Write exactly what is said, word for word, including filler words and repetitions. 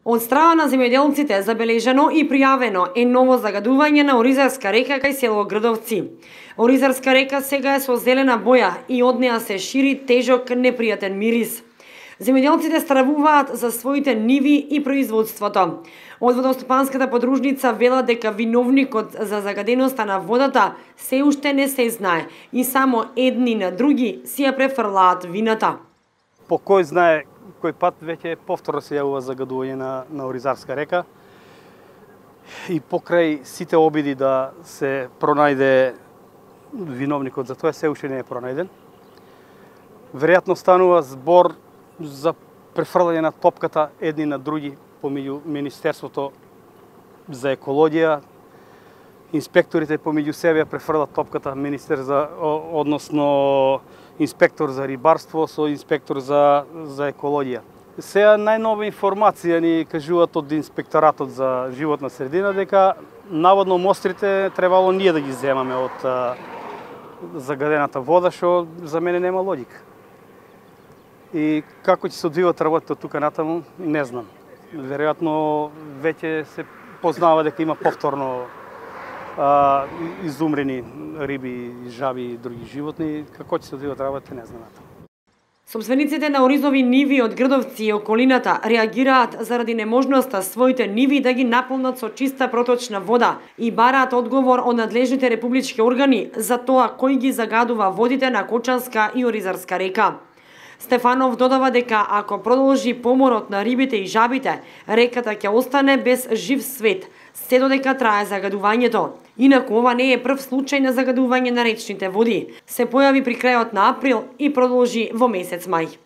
Од страна на земјоделците забележано и пријавено е ново загадување на Оризарска река кај село Грдовци. Оризарска река сега е со зелена боја и од неа се шири тежок непријатен мирис. Земјоделците стравуваат за своите ниви и производството. Од водостопанската подружница велат дека виновникот за загаденоста на водата се уште не се знае и само едни на други си ја префрлаат вината. По кој знае кој пат веќе повторно се јавува загадување на, на Оризарска река и покрај сите обиди да се пронајде виновникот за тоа се уште не е пронајден. Веројатно станува збор за префрлање на топката едни на други помеѓу Министерството за екологија, инспекторите помеѓу себе префрлат топката, министер за односно инспектор за рибарство со инспектор за за екологија. Сега најнова информација ни кажуваат од инспекторатот за животна средина дека наводно мострите требало ние да ги земаме од а, загадената вода, што за мене нема логика. И како ќе се одвиват работите од тука натаму, не знам. Веројатно веќе се познава дека има повторно а, изумрени риби, жаби и други животни. Како ќе се одвиват работите, не знам натаму. Собствениците на оризови ниви од Грдовци и околината реагираат заради неможноста своите ниви да ги наполнат со чиста проточна вода и бараат одговор од надлежните републички органи за тоа кој ги загадува водите на Кочанска и Оризарска река. Стефанов додава дека ако продолжи поморот на рибите и жабите, реката ќе остане без жив свет, се додека трае загадувањето. Инаку ова не е прв случај на загадување на речните води. Се појави при крајот на април и продолжи во месец мај.